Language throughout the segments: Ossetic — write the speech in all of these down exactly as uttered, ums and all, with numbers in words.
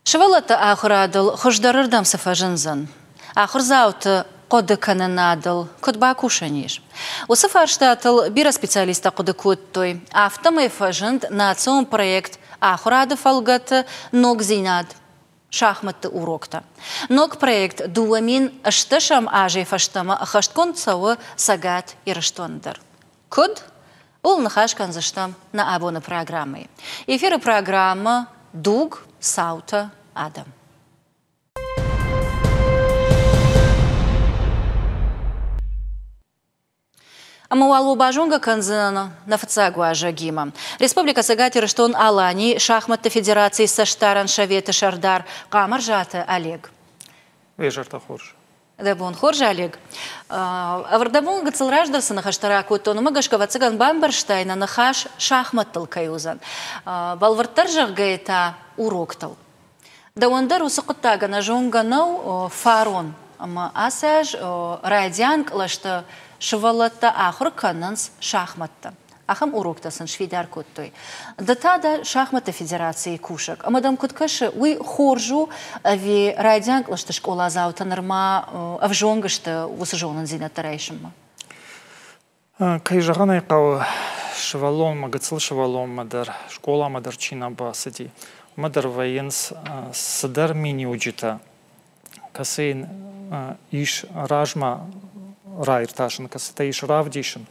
Сывӕллӕтты ахуырадыл хуыздӕрырдӕм цы фӕзындзӕн? Ахуырдзауты хъуыды кӕнынадыл куыд бакусӕн ис? Уыцы фарстатыл бирӕ специалисттӕ хъуыды кодтой. Афтӕмӕй фӕзынд национ проект «Ахуырады» фӕлгӕты ногдзинад шахматты уроктӕ. Ног проект дыууӕ мин ӕстдӕсӕм азӕй фӕстӕмӕ ӕххӕстгонд цӕуы Цӕгат Ирыстоны дӕр. Куыд? Ууыл ныхас кӕндзыстӕм нӕ абоны программӕйы. Эфиры программӕ «Дуг, цаутӕ, адӕм». Ӕмӕ уал уӕ базонгӕ кӕндзынӕн нӕ фыццаг уазӕгимӕ. Республикӕ Цӕгат Ирыстон-Аланийы шахматты федерацийы цӕстдарӕн советы сӕрдар Хъамырзаты Олег. Уе зӕртӕ хорз. Дӕ бон хорз, Олег. Ӕвӕрдӕбон гыццыл раздӕр цы ныхӕстӕ ракодтон, уымӕ гӕсгӕ ӕвӕццӕгӕн бамбӕрстай, нӕ ныхас шахматтыл кӕй уыдзӕн. Бӕлвырддӕр зӕгъгӕйӕ та уроктыл. Дӕуӕн дӕр уыцы хъуыддаг ӕнӕзонгӕ нӕу фарон ӕмӕ ацы аз райдиан кълӕсты сывӕллӕттӕ ахуыр кӕнынц шахматтӕ. Ахӕм уроктӕ сын сфидар кодтой. Ды та дӕ шахматты федерацийы кусӕг. Ӕмӕ дӕм куыд кӕсы, уый хорз у ӕви райдиан кълӕсты скъоладзаутӕ нырма ӕвзонг сты уыцы зонындзинӕдтӕ райсынмӕ? Кӕй зӕгъын ӕй хъӕуы, сывӕллонмӕ, гыццыл сывӕллонмӕ дӕр, скъоламӕ дӕр чи нӕ бацыди, уымӕ дӕр вӕййынц цыдӕр миниуджытӕ, кӕцы йын ис размӕ раиртасын, кӕцытӕ ис равдисын.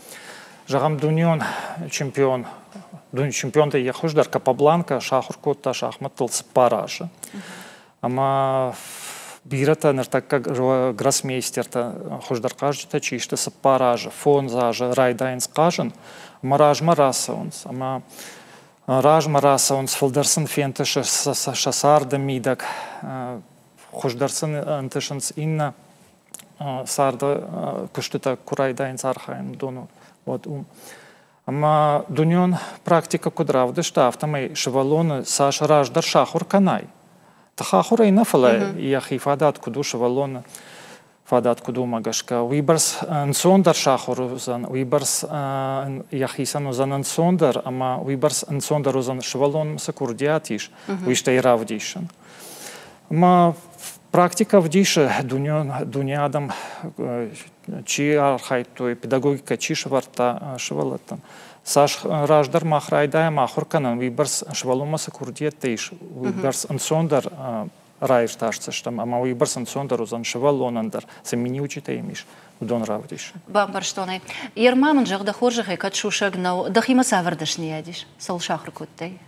Зӕгъӕм, дунеон чемпион, дунеон чемпионтӕй йӕ хуыздӕр Капабланка сахуыр кодта шахматтыл цыппар азы. Ӕмӕ бирӕтӕ ныртӕккӕ гроссмейстертӕ, хуыздӕр хъазджытӕ чи сты, цыппар азы, фондз азы райдайынц хъазын ӕмӕ размӕ рацӕуынц. Ӕмӕ размӕ рацӕуынц, фылдӕр сын фентысы сӕ царды мидӕг, хуыздӕр сын ӕнтысынц иннӕ царды куыстытӕ куы райдайынц архайын, уыдон уӕд уым. Ӕмӕ дунеон практикӕ куыд равдыста, афтӕмӕй сывӕллоны цас раздӕр сахуыр кӕнай, тыхахуырӕй нӕ, фӕлӕ йӕхи фадат куыд у, сывӕллоны фадат куыд у, уымӕ гӕсгӕ, уыйбӕрц ӕнцондӕр сахуыр уыдзӕн, уыйбӕрц йӕхицӕн уыдзӕн ӕнцондӕр ӕмӕ уыйбӕрц ӕнцондӕр уыдзӕн сывӕллонмӕ цы курдиат ис, уый стӕй равдисын. Ӕмӕ практикӕ ӕвдисы, дунеон дуне адӕм чи архайдтой, педагогикӕ чи сӕвӕрдта сывӕллӕттӕн, цас раздӕр мах райдайӕм ахуыр кӕнын, уыйбӕрц сывӕллонмӕ цы курдиӕттӕ ис, уыйбӕрц ӕнцондӕр раиртасдзыстӕм ӕмӕ уыйбӕрц ӕнцондӕр уыдзӕн сывӕллонӕн дӕр, цы миниуджытӕ йӕм ис, уыдон равдисын. Бамбӕрстон ӕй. Ерма мын зӕгъ, дӕ хорзӕхӕй, кӕд сусӕг нӕу, дӕхимӕ цавӕр дӕсныйад ис, цӕуыл сахуыр кодтай?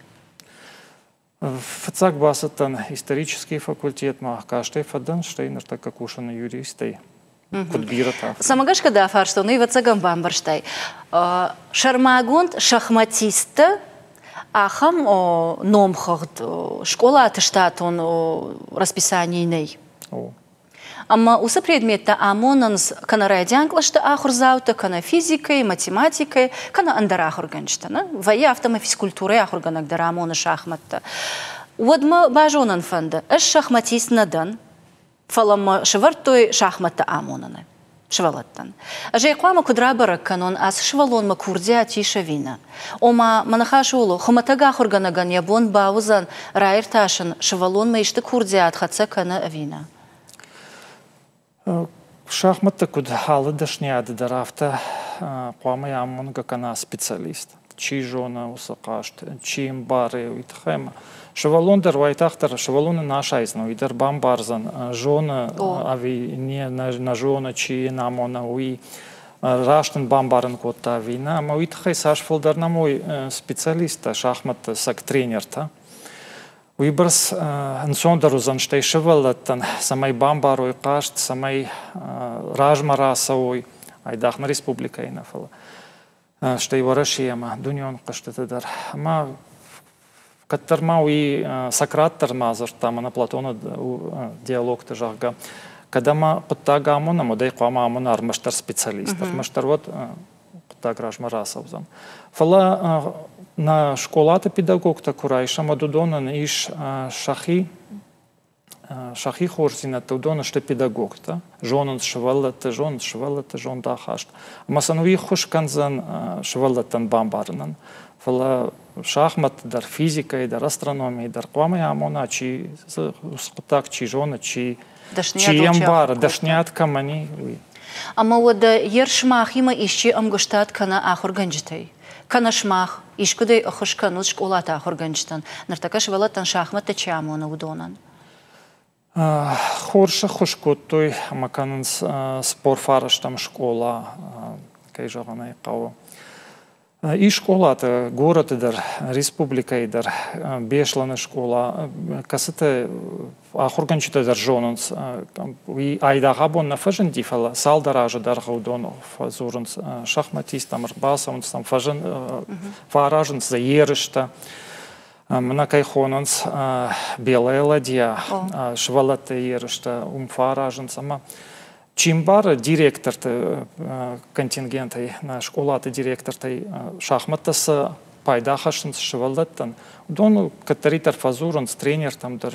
Фыццаг бацыдтӕн исторический факультетмӕ, кастӕй фӕдӕн, стӕй ныртӕккӕ кусын юристӕй. Куыд бирӕтӕ. Цӕмӕ гӕсгӕ дӕ фарстон, уый ӕвӕццӕгӕн бамбӕрстай. Сӕрмагонд шахматисттӕ ахӕм номхыгъд скъолаты штатон расписанийы нӕй. Ӕмӕ уыцы предметтӕ амонынц кӕнӕ райдиан кълӕсты ахуырдзаутӕ, кӕнӕ физикӕйы, математикӕйы, кӕнӕ ӕндӕр ахуыргӕнджытӕ. Нӕ? Вӕййы афтӕмӕй физкультурӕйы ахуыргӕнӕг дӕр амоны шахматтӕ. Уӕд мӕ базонын фӕнды, ӕз шахматист нӕ дӕн, фӕлӕ мӕ сӕвӕрдтой шахматтӕ амоныны сывӕллӕттӕн. Ӕз ӕй хъуамӕ куыд рабӕрӕг кӕнон, ацы сывӕллонмӕ курдиат ис ӕви нӕ? Ома, мӕ ныхас ууыл у, хуымӕтӕг ахуыргӕнӕгӕн йӕ бон бауыдзӕн раиртасын, сывӕллонмӕ исты курдиат хӕццӕ кӕны ӕви нӕ? Шахматтӕ куыд алы дӕсныйады дӕр, афтӕ хъуамӕ амонгӕ кӕна специалист. Чи зоны уыцы хъазт, чи ӕмбары, уый тыххӕй ӕмӕ сывӕллон дӕр уайтагъддӕр сывӕллоны нӕ асайдзӕн, уый дӕр бамбардзӕн, зоны ӕви не, нӕ зоны, чи йын амоны, уый раст ын бамбарын кодта ӕви нӕ. Ӕмӕ уый тыххӕй цас фылдӕр нӕм уой специалисттӕ, шахматты цӕг тренертӕ, уыйбӕрц ӕнцондӕр уыдзӕн стӕй сывӕллӕттӕн, цӕмӕй бамбарой хъазт, цӕмӕй размӕ рацӕуой, айдагъ нӕ республикӕйы нӕ, фӕлӕ стӕй Уӕрӕсейы ӕмӕ дунеон хъӕзтыты дӕр. Ӕмӕ кӕддӕр ма уый Сократ дӕр ма дзырдта, мӕнӕ Платоны диалогты, зӕгъгӕ, кӕд ӕмӕ хъуыддаг амонӕм, уӕд ӕй хъуамӕ амона ӕрмӕстдӕр специалист, ӕрмӕстдӕр уӕд хъуыддаг размӕ рацӕудзӕн. Фӕлӕ нӕ скъолаты педагогтӕ куы райсӕм, уӕд уыдонӕн ис сӕхи сӕхи хорздзинӕдтӕ, уыдон сты педагогтӕ, зонынц сывӕллӕтты, зонынц сывӕллӕтты зондахаст. Ӕмӕ сын уый ӕххуыс кӕндзӕн сывӕллӕттӕн бамбарынӕн. Фӕлӕ шахмӕтты дӕр, физикӕйы дӕр, астрономийы дӕр хъуамӕ амона, чи хъуыддаг чи зоны, чи чи ӕмбары, дӕсниад кӕмӕн и, уый. Ӕмӕ уӕдӕ йер сымахимӕ исчи ӕмгуыстад кӕна ахуыргӕнджытӕй? Кӕнӕ сымах искуыдӕй ӕххуыс кӕнут скъолаты ахуыргӕнджытӕн, ныртӕккӕ сывӕллӕттӕн шахмӕттӕ чи амоны, уыдонӕн? Хорз ӕххуыс кодтой ӕмӕ кӕнынц цыппор фарӕстӕм скъола, кӕй зӕгъын ӕй хъӕуы. Ис скъолаты, горӕты дӕр, республикӕйы дӕр, Беслӕны скъола, кӕцыты ахуыргӕнджытӕ дӕр зонынц, уый айдагъ абон нӕ фӕзынди, фӕлӕ цалдӕр азы дӕргъы уыдон фӕдзурынц шахматисттӕм, ӕрбацӕуынц сӕм, фӕзын, фӕаразынц дзы ерыстӕ. Мӕнӕ кӕй хонынц Белая ладья, сывӕллӕтты ерыстӕ уым фӕаразынц ӕмӕ чи мбары директорты контингентӕй, нӕ скъолаты директортӕй шахмӕттӕ цы пайда хӕссынц сывӕллӕттӕн, уыдон кӕддӕриддӕр фӕдзурынц тренертӕм дӕр,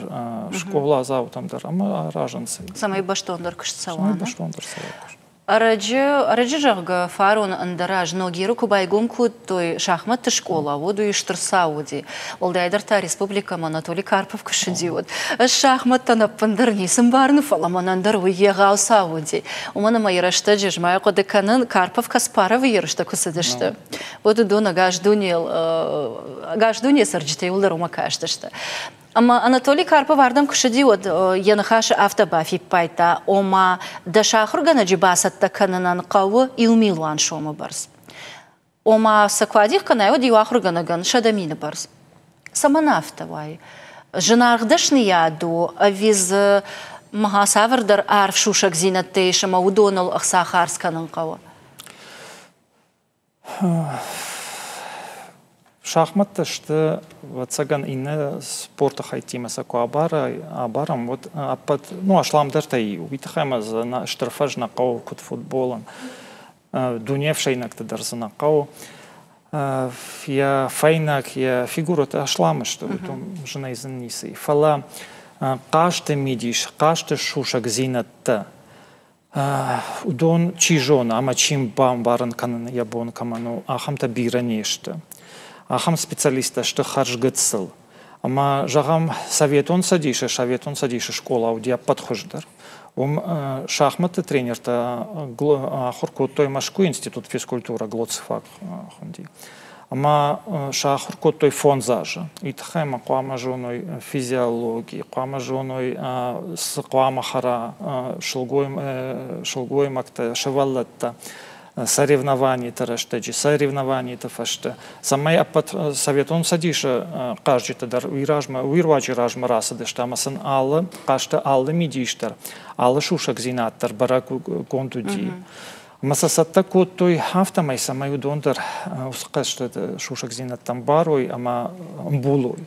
скъоладзаутӕм дӕр ӕмӕ аразынц. Цӕмӕй бӕстондӕр куыст цӕуа. Цӕмӕй бӕстондӕр цӕуа куыст. Ӕрӕджы, ӕрӕджы зӕгъгӕ, фарон ӕндӕр аз Ногиры куы байгом кодтой шахмӕтты скъола, уӕд уый стыр цау уыди. Уӕлдайдӕр та республикӕмӕ Анатолий Карпов куы ссыди, уӕд. Ӕз шахмӕттӕн ӕппындӕр ницы мбарын, фӕлӕ мӕнӕн дӕр уый егъау цау уыди. Уымӕн ӕмӕ йӕ рӕстӕджы ӕз ма хъуыды кӕнын, Карпов Каспаровы ерыстӕ куы цыдысты, уӕд уыдон ӕгас дунейыл, ӕгас дунейы цӕрджытӕ иууылдӕр уымӕ кастысты. Ӕмӕ Анатолий Карпов ардӕм куы ссыди, уӕд йӕ ныхасы афтӕ бафиппайдта, ома дӕс ахуыргӕнӕджы бацӕттӕ кӕнынӕн хъӕуы иу милуан сомы бӕрц. Ома сӕ куы адих кӕнай, уӕд иу ахуыргӕнӕгӕн сӕдӕ мины бӕрц. Цӕмӕн афтӕ уайы? Зынаргъ дӕсныйад у, ӕви дзы мӕ цавӕрдӕр арф сусӕгдзинӕдтӕ ис ӕмӕ уыдоныл ӕхца хардз кӕнын хъӕуы? Шахмӕттӕ сты, ӕвӕццӕгӕн, иннӕ спорты хӕйттимӕ сӕ куы абарӕм, уӕд ӕппӕт, ну, асламдӕртӕй иу. Уый тыххӕй ӕмӕ дзы стыр фӕз нӕ хъӕуы, куыд футболӕн. Дуне ӕфсӕйнӕгты дӕр дзы нӕ хъӕуы. Йӕ фӕйнӕг, йӕ фигурӕтӕ аслам сты, уыдон зынӕй дзы ницы и. Фӕлӕ хъазты мидис, хъазты сусӕгдзинӕдтӕ, уыдон чи зоны ӕмӕ чи бамбарын кӕнын йӕ бон кӕмӕн у, ахӕмтӕ бирӕ не сты. Ахӕм специалисттӕ сты хӕрзгыццыл. Ӕмӕ, зӕгъӕм, Советон Цӕдисы, Советон Цӕдисы скъола уыди ӕппӕт хуыздӕр. Уым шахмӕтты тренертӕ ахуыр кодтой Мӕскуыйы институт физкультуры, Глоцфак хуынди. Ӕмӕ сӕ ахуыр кодтой фондз азы. Уый тыххӕй ӕмӕ хъуамӕ зоной физиологи, хъуамӕ зоной, цы хъуамӕ хӕра сылгоймӕгтӕ, сывӕллӕттӕ соревнованиты рӕстӕджы, соревнованиты фӕстӕ, цӕмӕй ӕппӕт Советон Цӕдисы хъазджытӕ дӕр уый размӕ, уый руаджы размӕ рацыдысты ӕмӕ сын алы хъазты алы мидис дӕр, алы сусӕгдзинад дӕр бӕрӕггонд уыди. Ӕмӕ сӕ цӕттӕ кодтой афтӕмӕй, цӕмӕй уыдон дӕр уыцы хъазты сусӕгдзинӕдтӕм барой ӕмӕ ӕмбулой.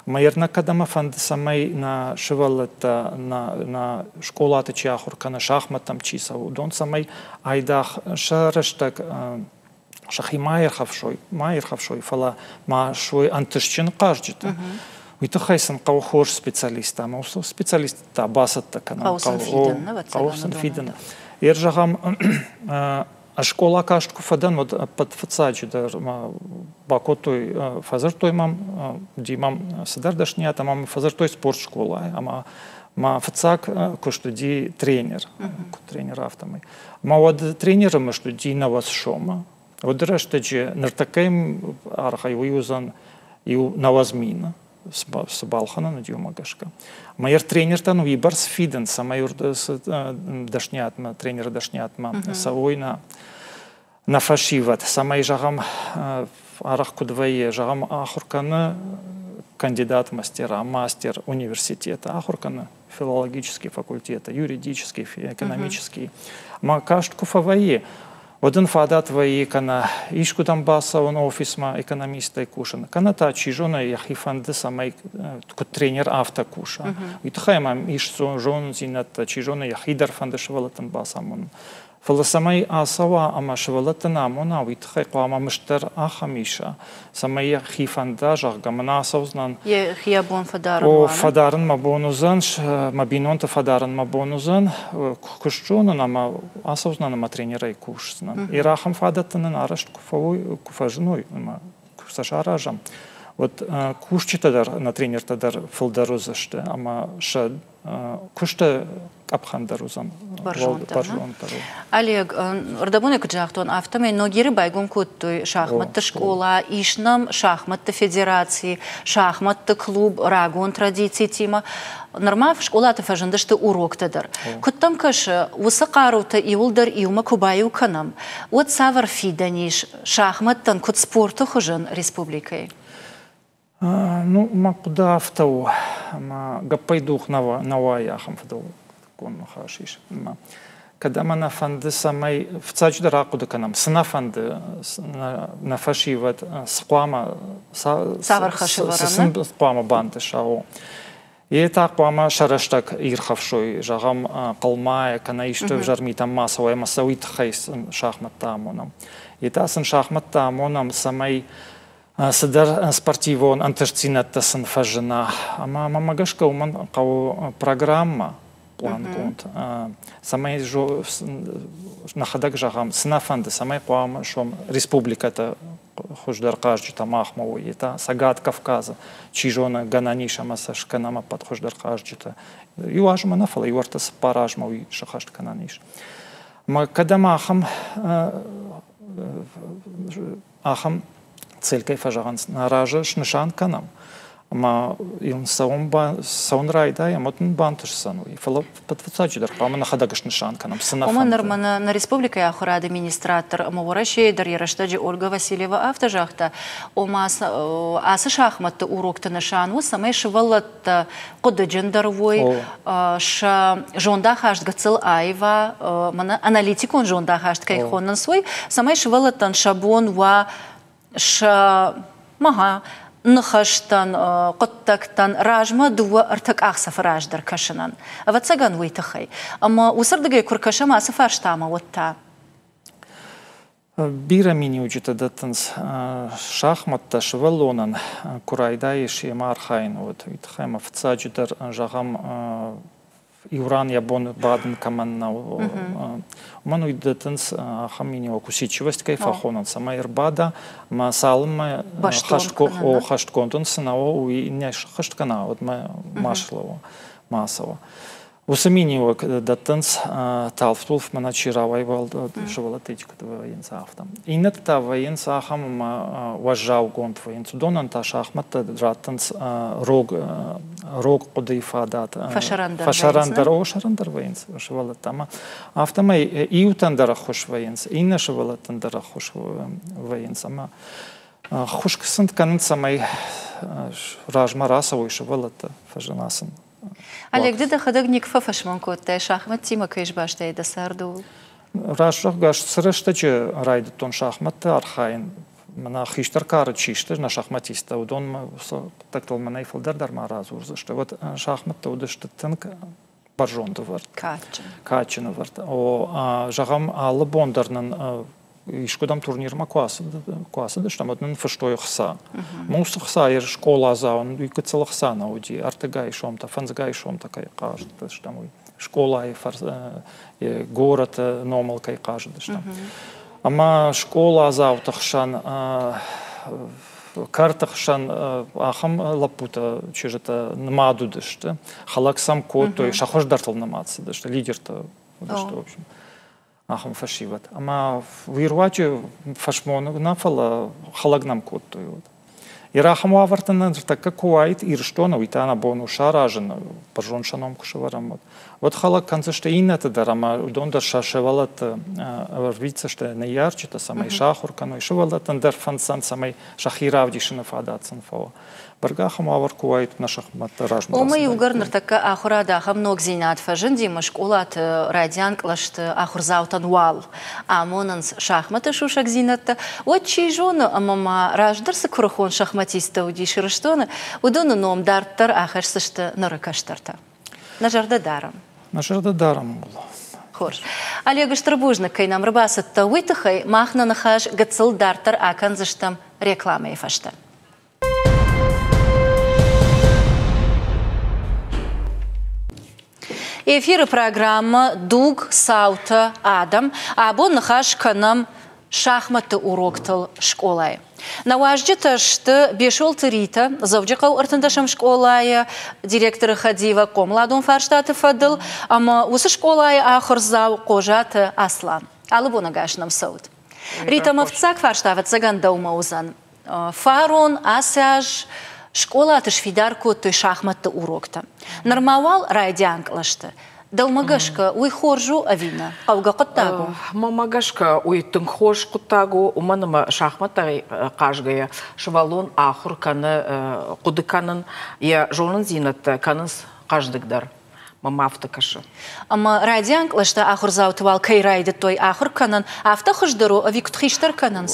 Ӕмӕ йӕ нӕ кӕд ӕмӕ фӕнды, цӕмӕй нӕ сывӕллӕттӕ, нӕ, нӕ скъолаты чи ахуыр кӕны, шахмӕттӕм чи цӕуы, уыдон цӕмӕй айдагъ сӕ рӕстӕг сӕхи ма ирхӕфсой, ма ирхӕфсой, фӕлӕ ма суой ӕнтыстджын хъазджытӕ. Уый тыххӕй сын хъӕуы хорз специалисттӕ ӕмӕ уыцы специалисттӕ бацӕттӕ кӕнын Хъӕуы сын фидын, хъӕуы сын фидын. Ер зӕгъӕм, скъола каст куы фӕдӕн, уӕд ӕппӕт фыццаджы дӕр бакодтой, фӕдзырдтой мӕм, уыди мӕм цыдӕр дӕсныйад ӕмӕ мӕ фӕдзырдтой спортскъолайы ӕмӕ мӕ фыццаг куыст уыди тренер, куыд тренер афтӕмӕй. Ӕмӕ уӕд тренеры мызд уыди нӕуӕдз сомы. Уӕды рӕстӕджы ныртӕккӕйы аргъӕй уый уыдзӕн иу нӕуӕдз мины, цы балхӕнӕн уыди, уымӕ гӕсгӕ. Ӕмӕ йӕ тренертӕн уыйбӕрц фидын, цӕмӕй дӕсныйадмӕ, тренеры дӕсныйадмӕ цӕуой нӕ нӕ фӕсивӕд, цӕмӕй, зӕгъӕм, арӕх куыд вӕййы, зӕгъӕм, ахуыр кӕны кандидат мастера, мастер университета, ахуыр кӕны филологический факультеты, юридический, экономический. Ӕмӕ каст куы фӕвӕййы, уӕд ын фадат вӕййы кӕнӕ искуыдӕм бацӕуын офисмӕ экономистӕй кусын, кӕнӕ та, чи зоны, йӕхи фӕнды, цӕмӕй куыд тренер афтӕ куса. Уый тыххӕй мӕм ис зонындзинӕдтӕ, чи зоны, йӕхи дӕр фӕнды сывӕллӕттӕн бацамонын. Фӕлӕ цӕмӕй ацӕуа ӕмӕ сывӕллӕттӕн амона, уый тыххӕй хъуамӕ мызд дӕр ахӕм иса, цӕмӕй йӕхи фӕнда, зӕгъгӕ, мӕн ацӕудзынӕн. Йӕхи йӕ бон фӕдарын О, уа, нӕ? фӕдарын мӕ бон уыдзӕн, мӕ бинонты фӕдарын мӕ бон уыдзӕн, куыст зонын ӕмӕ ацӕудзынӕн ӕмӕ тренерӕй кусдзынӕн. Йе ахӕм фадӕттӕ нын арӕзт куы фӕуой, куы фӕзыной ӕмӕ куы сӕ саразӕм, уӕд кусджытӕ дӕр, нӕ тренертӕ дӕр фылдӕр уыдзысты ӕмӕ сӕ куысты къӕпхӕн дӕр уыдзӕн бӕрзонддӕр. Олег, ӕрдӕбоны куыд загътон, афтӕмӕй Ногиры байгом кодтой шахматты скъола, ис нӕм шахматты федераци, шахматты клуб рагон традицитимӕ. Нырма скъолаты фӕзындысты уроктӕ дӕр. Куыд дӕм кӕсы, уыцы хъарутӕ иуылдӕр иумӕ куы баиу кӕнӕм, уӕд цавӕр фидӕн ис шахматтӕн куыд спорты хуызӕн республикӕйы? Ну, мӕ хъуыды афтӕ у, ӕмӕ гӕппӕй дугъ нӕ уайы, ахӕм фыдӕлтыккон ныхас ис. Кӕд ӕмӕ нӕ фӕнды, цӕмӕй фыццаджыдӕр ахъуыды кӕнӕм, цы нӕ фӕнды, нӕ фӕсивӕд, цы хъуамӕ, цавӕр хӕс цы сын хъуамӕ бантыса, о. Йе та хъуамӕ сӕ рӕстӕг ирхӕфсой, зӕгъӕм, хъылмайӕ кӕнӕ исты ӕвзӕр митӕм ма цӕуой ӕмӕ сӕ уый тыххӕй сын шахмӕттӕ амонӕм. Йе та сын шахмӕттӕ амонӕм, цӕмӕй цыдӕр спортивон ӕнтыстдзинӕдтӕ сын фӕзына. Ӕмӕ мӕмӕ гӕсгӕ уымӕн хъӕуы программӕ плангонд, цӕмӕй нӕхӕдӕг зӕгъӕм, цы нӕ фӕнды, цӕмӕй хъуамӕ суӕм республикӕтӕ хуыздӕр хъазджытӕ махмӕ уой, та Цӕгат Кавказы, чи зоны, гӕнӕн ис ӕмӕ сӕ скӕнӕм ӕппӕт хуыздӕр хъазджытӕ. Иу азмӕ нӕ, фӕлӕ иу ӕртӕ цыппар азмӕ уый сӕххӕст кӕнӕн ис. Ӕмӕ кӕд ӕмӕ ахӕм ахӕм цель кӕй фӕзӕгъынц, нӕ разы снысан кӕнӕм, ӕмӕ йын цӕуын, цӕуын райдайӕм, уӕд нын бантысдзӕн уый. Фӕлӕ фыццаджыдӕр хъуамӕ нӕхӕдӕг снысан кӕнӕм, цы нӕ Уымӕн нырма нӕ, нӕ республикӕйы ахуырады министрад дӕр ӕмӕ Уӕрӕсейы дӕр йӕ рӕстӕджы Ольга Васильева афтӕ загъта, ома ацы шахматты урокты нысан у, цӕмӕй сывӕллӕттӕ хъуыдыджындӕр уой, сӕ зондахаст гыццыл аива, мӕнӕ аналитикон зондахаст кӕй хонынц, уый, цӕмӕй сывӕллӕттӕн сӕ бон уа сӕ мага ныхӕстӕн, хъуыддӕгтӕн размӕ дыууӕ ӕртӕ къахдзӕфы раздӕр кӕсынӕн. Ӕвӕццӕгӕн уый тыххӕй. Ӕмӕ уыцырдыгӕй куы ркӕсӕм ацы фарстамӕ, уӕд та? Бирӕ миниуджытӕ дӕттынц шахматтӕ сывӕллонӕн, куы райдайыс йемӕ архайын, уӕд. Уый тыххӕй ӕмӕ фыццаджыдӕр, зӕгъӕм, иу ран йӕ бон бадын кӕмӕн нӕу, уымӕн уый дӕттынц ахӕм миниуӕг, усидчивость кӕй фӕхонынц, цӕмӕй ӕрбада ӕмӕ цалынмӕ хӕстгонд ын цы нӕ у, уый не схӕст кӕна, уӕдмӕ ма слӕууа, ма ацӕуа. Уыцы миниуӕг дӕттынц талф-тулф, мӕнӕ чи рауайы сывӕллӕттӕ куыд вӕййынц, афтӕ. Иннӕтӕ та вӕййынц ахӕм ӕмӕ уӕззаугонд вӕййынц. Уыдонӕн та шахмӕттӕ раттынц рог, рог хъуыдыйы фадат. Фӕсӕрӕндӕр. Фӕсӕрӕндӕр, о, сӕрӕндӕр вӕййынц сывӕллӕттӕ. Ӕмӕ афтӕмӕй иутӕн дӕр ӕххуыс вӕййынц, иннӕ сывӕллӕттӕн дӕр ӕххуыс вӕййынц. Ӕмӕ ӕххуыс сын кӕнынц, цӕмӕй размӕ рацӕуой сывӕллӕттӕ, фӕзына сын. Олег, ды дӕхӕдӕг никуы фӕфӕсмон кодтай, шахматтимӕ кӕй сбастай дӕ царды, ууыл? Раст зӕгъгӕ, цы рӕстӕджы райдыдтон шахматты архайын, мӕнӕ хистӕр кары чи сты, нӕ шахматисттӕ, уыдон уыцы хъуыддӕгтыл мӕнӕй фылдӕр дӕр ма радзурдзысты. Уӕд шахматтӕ уыдысты тынг бӕрзонд ӕвӕрд. Кадджын. Кадджын ӕвӕрд. О, зӕгъӕм, алы бон дӕр нын искуыдӕм турнирмӕ куы ацыдыстӕм, уӕд нын фыстой ӕхца. Уыцы ӕхца скъоладзауӕн уый гыццыл ӕхца нӕ уыди, ӕртыгай сомтӕ, фӕндзгай сомтӕ кӕй хъазыдыстӕм, уый. Скъолайы горӕты номыл кӕй хъазыдыстӕм. Ӕмӕ скъоладзауты хсӕн, кӕрты хсӕн ахӕм лӕппутӕ, чызджытӕ нымад уыдысты. Хӕлӕг сӕм кодтой, сӕ хуыздӕртыл нымад цыдысты, лидертӕ уыдысты, в общем. Ахӕм фӕсивӕд. Ӕмӕ уый руаджы фӕсмон нӕ, фӕлӕ хӕлӕг нӕм кодтой. Йе ахӕм уавӕртӕ ныртӕккӕ куы уаид Ирыстоны, уый та нӕ бон у саразын, бӕрзонд сӕ ном куы сӕвӕрӕм, уӕд. Уӕд хӕлӕг кӕндзысты иннӕты дӕр ӕмӕ уыдон дӕр сӕ сывӕллӕтты ӕрвитдзысты ныййарджытӕ, цӕмӕй сахуыр кӕной. Сывӕллӕттӕн дӕр фӕнддзӕн, цӕмӕй сӕхи равдисыны фадат сын фӕуа. Бӕргӕ ахӕм уавӕр куы уаид, нӕ шахмӕттӕ размӕ. Ома иугӕр ныртӕккӕ ахуырады ахӕм ногдзинад фӕзынди, ӕмӕ скъолаты райдиан кълӕсты ахуырдзаутӕн уал амонынц шахматы сусӕгдзинӕдтӕ, уӕд чи зоны, ӕмӕ ма раздӕр цы куырыхон шахматисттӕ уыдис Ирыстоны, уыдоны ном дарддӕр ахӕсдзысты ныры кӕстӕртӕ. Нӕ зӕрдӕ дарӕм. Нӕ зӕрдӕ дарӕм ууыл. Хорз. Олег, стыр бузныг, кӕй нӕм ӕрбацыдтӕ, уый тыххӕй. Мах нӕ ныхас гыццыл дарддӕр акӕндзыстӕм рекламӕйы фӕстӕ. Эфиры программӕ «Дуг, цаутӕ, адӕм». Абон ныхас кӕнӕм шахматты уроктыл скъолайы. Нӕ уазджытӕ сты Бесолты Ритӕ, Дзӕуджыхъӕуы ӕртындӕсӕм скъолайы директоры хӕдивӕг хъомыладон фарстаты фӕдыл, ӕмӕ уыцы скъолайы ахуырдзау Хъозаты Аслан. Алы бон ӕгас нӕм цӕут. Ритӕ, мӕ фыццаг фарста, ӕвӕццӕгӕн, дӕумӕ уыдзӕн. Фарон, ацы аз скъолаты сфидар кодтой шахматты уроктӕ. Нырма уал райдиан кълӕсты. Дӕумӕ гӕсгӕ, уый хорз у ӕви нӕ? Хъӕугӕ хъуыддаг у? Мӕнмӕ гӕсгӕ, уый тынг хорз хъуыддаг у, уымӕн ӕмӕ шахматтӕй хъазгӕйӕ сывӕллон ахуыр кӕны хъуыды кӕнын, йӕ зонындзинӕдтӕ кӕнынц хъӕздыгдӕр. Мӕм афтӕ кӕсы. Ӕмӕ райдиан кълӕсты ахуырдзауты уал кӕй райдыдтой ахуыр кӕнын, афтӕ хуыздӕр у ӕви куыд хистӕр кӕнынц?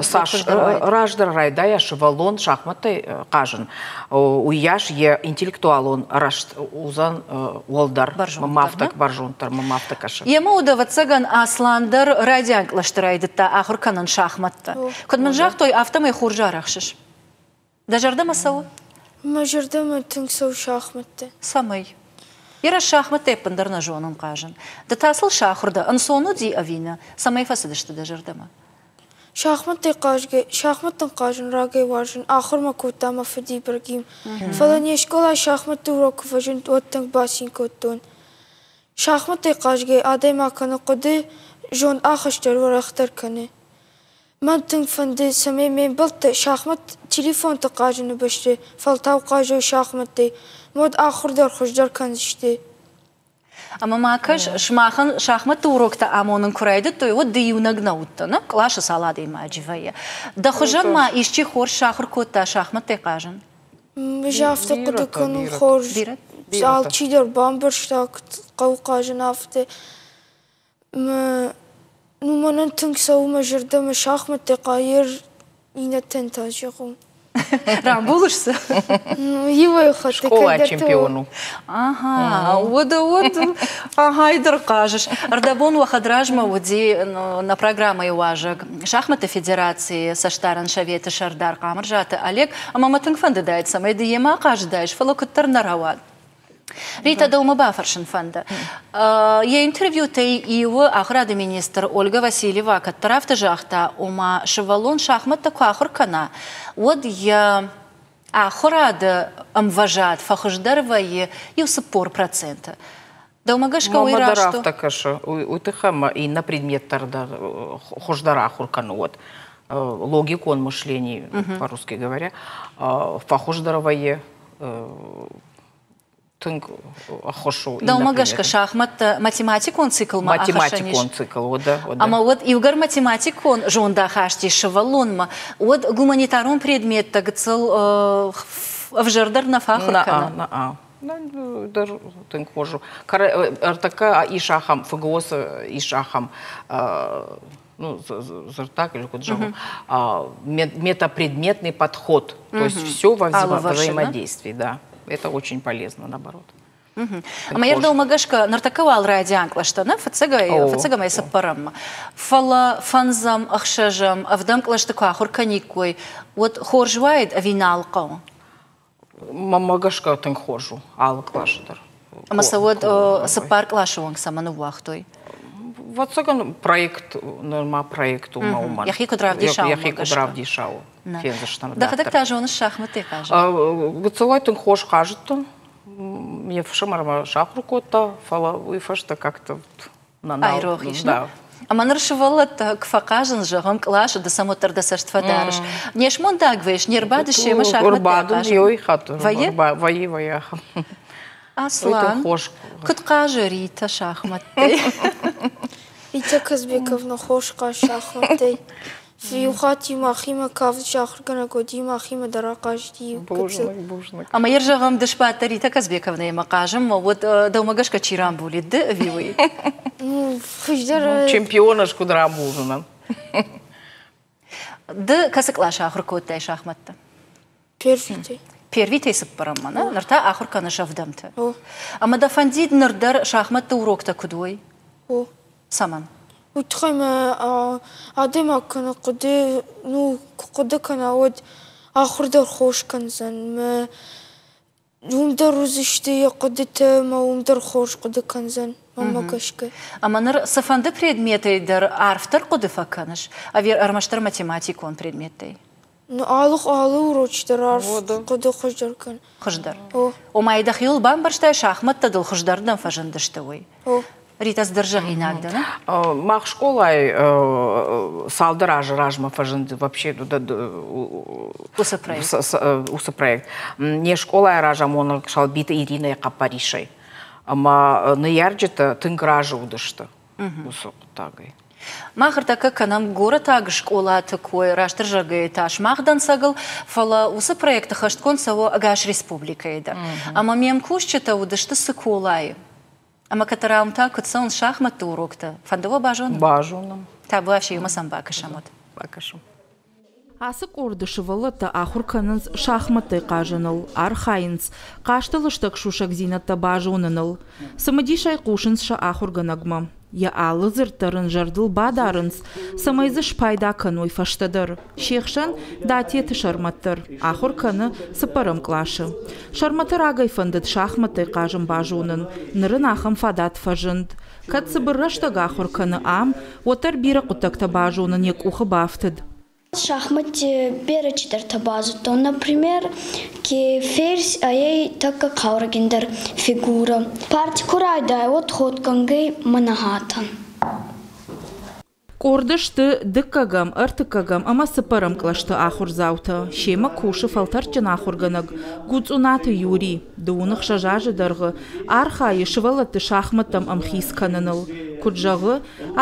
Цас раздӕр райдайа сывӕллон шахматтӕй хъазын, уыйас йӕ интеллектуалон рӕзт уыдзӕн уӕлдӕр. Мӕм афтӕ бӕрзонддӕр, мӕм афтӕ кӕсы. Йемӕ уыд, ӕвӕццӕгӕн, Аслан дӕр райдиан кълӕсты райдыдта ахуыр кӕнын шахматтӕ. Куыд мын загътой, афтӕмӕй хорз арӕхсыс. Дӕ зӕрдӕмӕ цӕуы? Мӕ зӕрдӕмӕ тынг цӕуы шахматтӕ. Цӕмӕй? Йӕ шахматтӕ ӕппындӕр нӕ зонын хъазын. Ды та сыл сахуыр дӕ, ӕнцон уыди ӕви нӕ? Цӕмӕй фӕцыдысты дӕ зӕрдӕмӕ? Шахматтӕй хъазгӕ, шахматтӕн хъазын рагӕй уарзын, ахуыр мӕ кодта мӕ фыд Ибрагим. Фӕлӕ не скъолайы шахматты урок куы фӕзынд, уӕд тынг бацин кодтон. Шахматтӕй хъазгӕ адӕймаг кӕны хъуыды, зонд ахӕстдӕр уӕрӕхдӕр кӕны. Мӕн тынг фӕнды, цӕмӕй ме мбӕлттӕ шахмат телефонты хъазыны бӕсты фӕлтау хъазой шахматтӕй, уӕд ахуыр дӕр хуыздӕр кӕндзысты. Ӕмӕ ма кӕс, сымахӕн шахматты уроктӕ амонын куы райдыдтой, уӕд ды иунӕг нӕ уыдтӕ, нӕ? Къласы цал адӕймаджы вӕййы. Дӕ хуызӕн ма исчи хорз сахуыр кодта шахматтӕй хъазын? Ӕз афтӕ хъуыды кӕнын, хорз. Алчидӕр бамбӕрста, куыд хъӕуы хъазын, афтӕ. Ну, мӕнӕн тынг цӕуы мӕ зӕрдӕмӕ шахматтӕ хъайыр, иннӕтӕн та зӕгъон. Рамбулыс сӕ? Иуӕй хатт. Скъолайы чемпион у. Ага, уӕд уӕд ага, дӕр хъазыс. Ӕрдӕбон уӕ хӕдразмӕ уыди нӕ программӕйы уазӕг шахматты федерацийы цӕстдарӕн советы сӕрдар Хъамырзаты Олег, ӕмӕ мӕ тынг фӕндыдаид, цӕмӕй ды йемӕ ахъазыдаис, фӕлӕ куыддӕр нӕ рауад. Рита, дӕумӕ бафӕрсын фӕнды. Йӕ интервьютӕй иуы ахуырады министр Ольга Васильева кӕддӕр афтӕ загъта, ома сывӕллон шахматтӕ куы ахуыр кӕна, уӕд йӕ ахуырады ӕмвӕзад фӕхуыздӕр вӕййы иу цыппор проценты. Дӕумӕ гӕсгӕ уый Мӕнмӕ дӕр раст у? афтӕ кӕсы. Уый тыххӕй ӕмӕ иннӕ предметтӕ дӕр хуыздӕр ахуыр кӕны уӕд. Логикон мышление, по-русски говоря, фӕхуыздӕр вӕййы, тынг ӕххуыс у. Дӕумӕ гӕсгӕ шахматтӕ математикон циклмӕ ахӕссӕн ис? Математикон цикл, уӕдӕ, уӕдӕ. Ӕмӕ уӕд иугӕр математикон зондахаст ис сывӕллонмӕ, уӕд гуманитарон предметтӕ гыццыл ӕвзӕрдӕр нӕ фӕахуыр кӕны? Нӕ, нӕ, дӕр тынг хорз у. Ӕртӕккӕ ис ахӕм, ФГОС-ы ис ахӕм, ну, дзырдтаг или куыд зӕгъон, метапредметный подход. То есть все во взаимодействии, да. Это очень полезно, наоборот. Ӕмӕ йӕ дӕумӕ гӕсгӕ ныртӕккӕ уал райдиан кълӕстӕ, нӕ, фыццагӕй, фыццагӕмӕй цыппӕрӕммӕ. Фӕлӕ фӕндзӕм, ӕхсӕзӕм, ӕвдӕм кълӕсты куы ахуыр кӕниккой, уӕд хорз уаид ӕви нал хъӕуы? Мӕнмӕ гӕсгӕ тынг хорз у алы къласы дӕр. Ӕмӕ сӕ уӕд цыппар къласы онг цӕмӕн ныууагътой? Ӕвӕццӕгӕн, проект, нырма проект у мӕ уымӕн. Йӕхи куыд равдиса, Йӕхи куыд равдиса, фендзыстӕм. Дӕхӕдӕг та зоныс шахматтӕй хъазын? Гыццылӕй тынг хорз хъазыдтӕн. Ме фсымӕр мӕ сахуыр кодта, фӕлӕ уый фӕстӕ как-то айрох ис. Ӕмӕ ныр сывӕллӕттӕ куы фӕхъазынц, зӕгъӕм, къласы, ды сӕм уӕддӕр дӕ цӕст фӕдарыс. Не смондаг вӕййыс, не рбадыс семӕ шахматтӕ хъазын? Ой, хатт. Вӕййы? Вӕййы, вӕййы ахӕм. Аслан, куыд хъазы Рита шахматтӕй? Рита Казбековна хорз хъазы шахматтӕй. Иу хатт-иу махимӕ кафджы ахуыргӕнӕг уыди, махимӕ дӕр ахъазыди иу гыццыл. Ӕмӕ йӕ зӕгъӕм, ды сбадтӕ Рита Казбековнаимӕ хъазынмӕ, уӕд дӕумӕ гӕсгӕ чи рамбулид, ды ӕви уый? Ну, хуыздӕр... Чемпион ӕз куыд рамбулдзынӕн? Ды кӕцы къласы ахуыр кодтай шахматтӕ? Первитӕй. Первитӕй цыппӕрӕммӕ, нӕ? Ныр та ахуыр кӕныс ӕвдӕмты. Ӕмӕ дӕ фӕндид ныр дӕр шахматты уроктӕ куыд уой? О. Цӕмӕн? Уый тыххӕй мӕ адӕймаг кӕнӕ хъуыды, ну, куы хъуыды кӕна, уӕд ахуыр дӕр хорз кӕндзӕн. Мӕ уым дӕр уыдзысты йӕ хъуыдытӕ ӕмӕ уым дӕр хорз хъуыды кӕндзӕн, мӕнмӕ гӕсгӕ. Ӕмӕ ныр цыфӕнды предметӕй дӕр арфдӕр хъуыды фӕкӕныс, ӕви ӕрмӕстдӕр математикон предметтӕй? Ну, алы, алы урочы дӕр арф хъуыды хуыздӕр кӕн. Хуыздӕр. О. Ома, дӕхиуыл бамбӕрстай, шахмӕттӕ дыл хуыздӕрдӕм фӕзындысты, уый? О. Рита, цыдӕр зӕгъинаг дӕ, нӕ? Мах скъолайы цалдӕр азы размӕ фӕзынд вообще уыцы проект. Уыцы проект. Не скъолайы разамонӕг Салбиты Иринӕйы хъӕппӕрисӕй. Ӕмӕ ныййарджытӕ тынг разы уыдысты уыцы хъуыддагӕй. Мах ӕртӕккӕ кӕнӕм горӕтаг скъолаты кой, растдӕр зӕгъгӕйӕ та сымах дӕнцӕгыл, фӕлӕ уыцы проекты хӕстгонд цӕуы ӕгас республикӕйы дӕр. Ӕмӕ ме мкусджытӕ уыдысты Цыколайы. Ӕмӕ кӕддӕр та куыд цӕуынц шахмӕтты уроктӕ, фӕнды уӕ базонын? Базонын. Табуафси, иумӕ сӕм бакӕсӕм уӕд. Бакӕсӕм. Ацы къорды сывӕллӕттӕ ахуыр кӕнынц шахмӕттӕй хъазыныл, архайынц хъазты лыстӕг сусӕгдзинӕдтӕ базоныныл. Цымыдисӕй хъусынц сӕ ахуыргӕнӕгмӕ. Йӕ алы дзырд дӕр ын зӕрдыл бадарынц, цӕмӕй дзы спайда кӕной фӕстӕдӕр. Се хсӕн Датеты Сӕрмӕт дӕр ахуыр кӕны цыппӕрӕм къласы. Сӕрмӕты рагӕй фӕндыд шахмӕттӕй хъазын базонын. Ныр ын ахӕм фадат фӕзынд. Кӕд цыбыр рӕстӕг ахуыр кӕны ам, уӕддӕр бирӕ хъуыддӕгтӕ базонын йӕ къухы бафтыд. Шахматти берӕ чидӕртӕ базудтон. Например, ке ферзь ӕй тӕккӕ хъаурӕгиндӕр фигура. Парти ку райдайа, уӕд ходгӕнгӕй мӕнӕ хатӕн. Къорды сты дыккӕгӕм, ӕртыккӕгӕм ӕмӕ цыппӕрӕм кълӕсты ахуырдзаутӕ. Семӕ кусы фӕлтӕрдджын ахуыргӕнӕг Гуцъунаты Юрий. Дыууын ӕхсӕз азы дӕргъы архайы сывӕллӕтты шахмӕттӕм ӕмхиц кӕныныл. Куыд зӕгъы,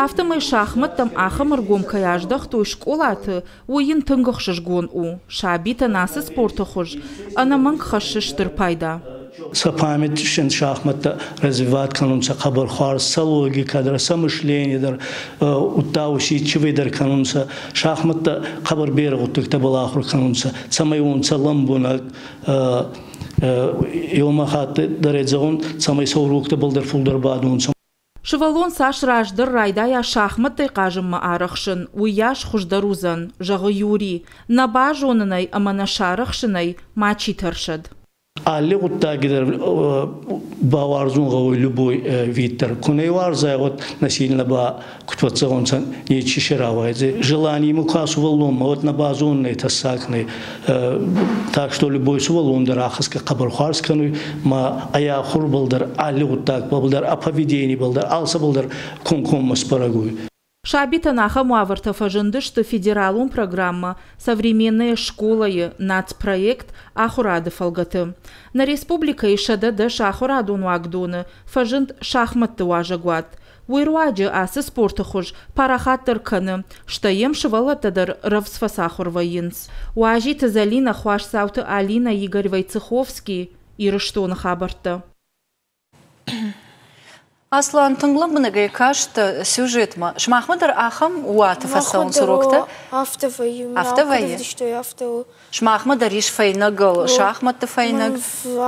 афтӕмӕй шахмӕттӕм ахӕм ӕргом кӕй аздӕхтой скъолаты, уый йын тынг ӕхсызгон у. Сабитӕн ацы спорты хуыз ӕнӕмӕнг хӕссы стыр пайда. Сӕ память шахматтӕ развивать кӕнунцӕ хъӕбӕр хуарз, сӕ логикӕ дӕр, сӕ мышление дӕр, удта усидчивый дӕр кӕнунцӕ. Шахматтӕ хъӕбӕр берӕ гъуддӕгтӕбӕл ахур кӕнунцӕ, цӕмӕй уонцӕ лӕмбунӕг, еума хатт дӕр зӕгъун, цӕмӕй сӕ уроктӕбӕл дӕр фулдӕр бадунцӕ. Сывӕллон цас раздӕр райдайа шахмӕттӕй хъазынмӕ арӕхсын, уыйас хуыздӕр уыдзӕн, зӕгъы Юрий. Нӕ базонынӕй ӕмӕ нӕ сарӕхсынӕй мачи тӕрсӕд. Алли гъуддаги дӕр бауарзун гъӕуй любой вид дӕр. Ку нӕ уарзай, уӕд насильно ба куд фӕццӕгъунцӕ, нечи си рауайдзӕй. Желание имӕ ку сувӕллонмӕ, уӕд нӕ базоннӕй, тӕссаг нӕй. Так что любой сувӕллон дӕр ахӕсгӕ хъӕбӕр хуарз кӕнуй, ма ӕй ахурбӕл дӕр, алли гъуддагбӕл дӕр, ӕ поведенибӕл дӕр, алцӕбӕл дӕр комкоммӕ сбӕрӕг уй. Сабитӕн ахӕм уавӕртӕ фӕзындысты федералон программӕ «Современная школа»-йы нацпроект ахуырады фӕлгӕты. Нӕ республикӕйы сӕдӕ дӕс ахуырадон уагдоны фӕзынд шахмӕтты уазӕгуат. Уый руаджы ацы спорты хуыз парахатдӕр кӕны, стӕй йӕм сывӕллӕттӕ дӕр рӕвдз фӕцахуыр вӕййынц. Уазиты Зӕлинӕ, Хуасдзауты Алинӕ, Игорь Войцеховский, Ирыстоны хабӕрттӕ. Аслан, тынг лӕмбынӕгӕй каст сюжетмӕ. Сымахмӕ дӕр ахӕм уаты фӕцӕуынц уроктӕ? Афтӕ вӕййы. Афтӕ вӕййы? Афтӕ у. Сымахмӕ дӕр ис фӕйнӕгыл, шахмӕтты фӕйнӕг?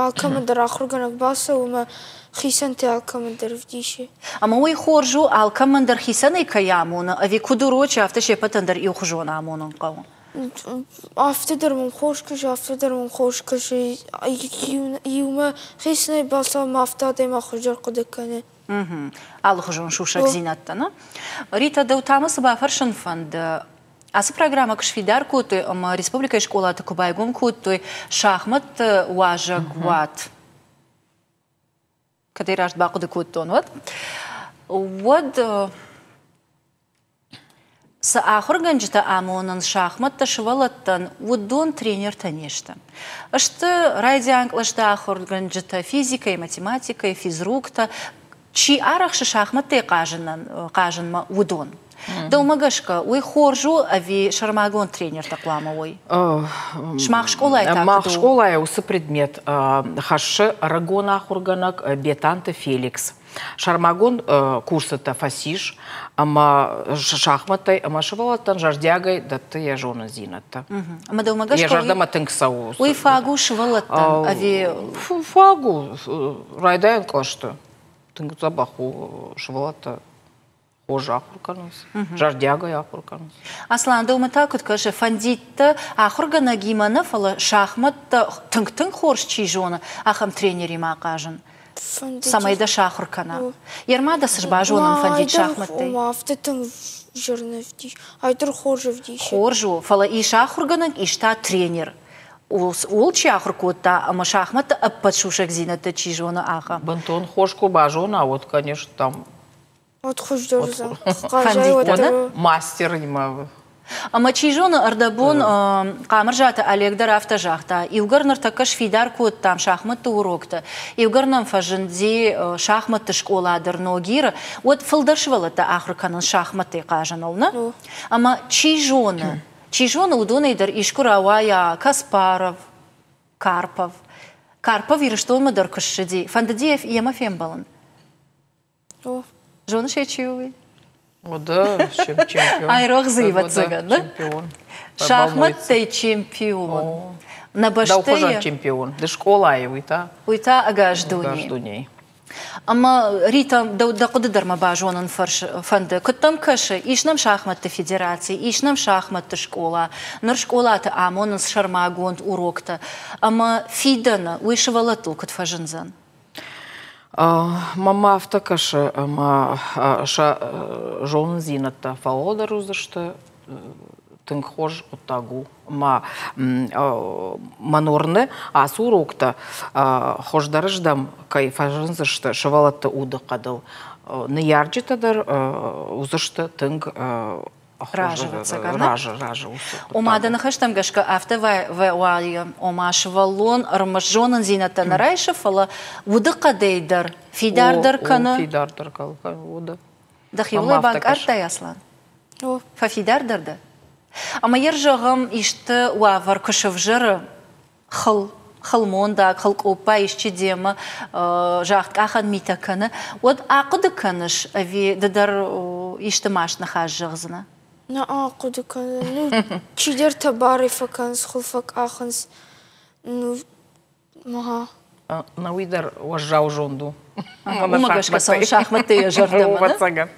Алкӕмӕн дӕр ахуыргӕнӕг бацӕуы ӕмӕ хицӕнтӕ алкӕмӕн дӕр ӕвдисы. Ӕмӕ уый хорз у, алкӕмӕн дӕр хицӕнӕй кӕй амоны, ӕви куыд урочы, афтӕ се ппӕтӕн дӕр иухуызон амонын хъӕуы? Афтӕ дӕр мӕм хорз кӕсы, афтӕ дӕр мӕм хорз кӕсы. Иумӕ хицӕнӕй бацӕуы ӕмӕ афтӕ адӕймаг хуыздӕр хъуыды кӕны. Алыхуызон сусӕгдзинӕдтӕ, нӕ? Рита, дӕу та мӕ цы бафӕрсын фӕнды? Ацы программӕ куы сфидар кодтой ӕмӕ республикӕйы скъолаты куы байгом кодтой шахмӕтты уазӕгуат, кӕд ӕй раст бахъуыды кодтон, уӕд, уӕд цы ахуыргӕнджытӕ амонынц шахмӕттӕ сывӕллӕттӕн, уыдон тренертӕ не сты. Сты райдиан кълӕсты ахуыргӕнджытӕ физикӕйы, математикӕйы, физруктӕ, чи арӕхсы шахмӕттӕй хъазынмӕ, уыдон. Дӕумӕ гӕсгӕ, уый хорз у ӕви сӕрмагонд тренертӕ хъуамӕ уой? Сымах скъолайы та Мах скъолайы уыцы предмет хӕссы ӕрыгон ахуыргӕнӕг Бетанты Феликс. Сӕрмагонд курсытӕ фӕцис ӕмӕ шахмӕттӕй ӕмӕ сывӕллӕттӕн зӕрдиагӕй дӕтты йӕ зонындзинӕдтӕ. Ӕмӕ дӕумӕ гӕсгӕ Йӕ зӕрдӕмӕ тынг цӕуы. Уый фаг у сывӕллӕттӕн ӕви Фаг у, райдайӕн кълӕсты. Тынг дзӕбӕх у сывӕллӕттӕ. Хорз ахуыр кӕнынц, зӕрдиагӕй ахуыр кӕнынц. Аслан, дӕумӕ та куыд кӕсы, фӕндид дӕ ахуыргӕнӕгимӕ нӕ, фӕлӕ шахмӕттӕ тынг-тынг хорз чи зоны, ахӕм тренеримӕ хъазын? Цӕмӕй дӕ сахуыр кӕна. Ерма дӕ цы базонын фӕндид шахмӕттӕй? Афтӕ тынг зын ӕвдис, айдӕр хорз ӕвдисы. Хорз у, фӕлӕ ис ахуыргӕнӕг, ис та тренер. Ууыл чи ахуыр кодта ӕмӕ шахмӕтты ӕппӕт сусӕгдзинӕдтӕ чи зоны, ахӕм. Бынтон хорз куы базона, уӕд, конечно, там Уӕд хуыздӕр уыдзӕн. Фӕндид мастеримӕ. Ӕмӕ чи зоны, ӕрдӕбон Хъамырзаты Олег дӕр афтӕ загъта, иугӕр ныртӕккӕ сфидар кодтам шахмӕтты уроктӕ, иугӕр нӕм фӕзынди шахмӕтты скъола дӕр Ногиры, уӕд фылдӕр сывӕллӕттӕ ахуыр кӕнынц шахмӕттӕй хъазыныл, нӕ? Ӕмӕ чи зоны, чи зоны, уыдонӕй дӕр искуы рауайа Каспаров, Карпов. Карпов Ирыстонмӕ дӕр куы ссыди, фӕндыди йемӕ фембӕлын? Зоныс ӕй, чи у уый? О, да, чемпион. Айрох дзы, ӕвӕццӕгӕн, нӕ? Чемпион. Шахмӕттӕй чемпион. Нӕ бӕстӕйы чемпион. Ды скъолайы, уый та? Уый та ӕгас дунейы. Ӕгас дунейы. Ӕмӕ Рита, дӕу дӕ хъуыды дӕр мӕ базонын фӕнды. Куыд дӕм кӕсы, ис нӕм шахмӕтты федераци, ис нӕм шахмӕтты скъола, ныр скъолаты амонынц сӕрмагонд уроктӕ. Ӕмӕ фидӕны уый сывӕллӕттыл куыд фӕзындзӕн? Мӕнмӕ афтӕ кӕсы, ӕмӕ сӕ зонындзинӕдтӕ фӕуӕлдӕр уыдзысты, тынг хорз хъуыддаг у. Ӕмӕ мӕн уырны, ацы уроктӕ хуыздӕрыздӕм кӕй фӕзындзысты сывӕллӕтты удыхъӕдыл. Ныййарджытӕ дӕр уыдзысты тынг разы, разы, разы. Ома дӕ ныхӕстӕм гӕсгӕ афтӕ уайы, ома сывӕллон ӕрмӕст зонындзинӕдтӕ нӕ райсы, фӕлӕ удыхъӕдӕй дӕр фидардӕр кӕны. Фидардӕр кӕны, уды. Дӕхиуыл ӕй банкъардтай, Аслан? Фӕфидардӕр дӕ? Ӕмӕ йӕ зӕгъӕм, исты уавӕр куы сӕвзӕры, хыл, хылмондаг, хылкъоппа исчи демӕ загъдкъахӕн митӕ кӕны, уӕд ахъуыды кӕныс, ӕви ды дӕр исты маст ныхас зӕгъдзынӕ? Нӕ ахъуыды кӕнын. Ну, чидӕртӕ барӕй фӕкӕнынц, хыл фӕкъахынц. Ну, ага. На уый дӕр уӕззау зонд у. Уымӕ гӕсгӕ цӕуы шахмӕттӕ йӕ зӕрдӕмӕ.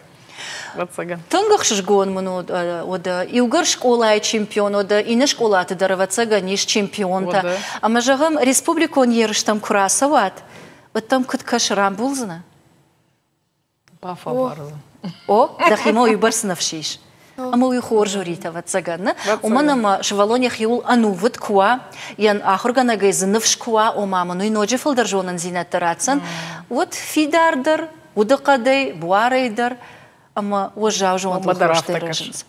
Тынг ӕхсызгон мын уыд, иугӕр скъолайы чемпион уыд, иннӕ скъолаты дӕр, ӕвӕццӕгӕн, ис чемпионтӕ. Ӕмӕ зӕгъӕм, республикон ерыстӕм куы рацӕуат, уӕд дӕм куыд кӕсы, рамбулдзынӕ? Бафӕлвардзӕн. О, дӕхимӕ уыйбӕрц ныфс ис. Ӕмӕ уый хорз у, Рита, ӕвӕццӕгӕн, нӕ? Уымӕн ӕмӕ сывӕллон йӕхиуыл ӕнувыд куы уа, йӕ ахуыргӕнӕгӕй дзы ныфс куы уа, ома мын уый ноджы фылдӕр зонындзинӕдтӕ ратдзӕн, уӕд фидардӕр, удыхъӕдӕй, буарӕй дӕр ӕмӕ уӕззау зондыл хорзтӕ рӕзынц.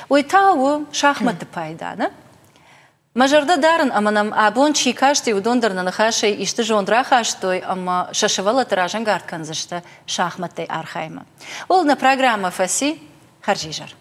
Уый та у шахмӕтты пайда, нӕ? Мӕ зӕрдӕ дарын, ӕмӕ нӕм абон чи касти, уыдон дӕр нӕ ныхасӕй исты зонд рахастой ӕмӕ сӕ сывӕллӕтты разӕнгард кӕндзысты шахмӕттӕй архайынмӕ. Ууыл нӕ программӕ фӕци. Хӕрзизӕр.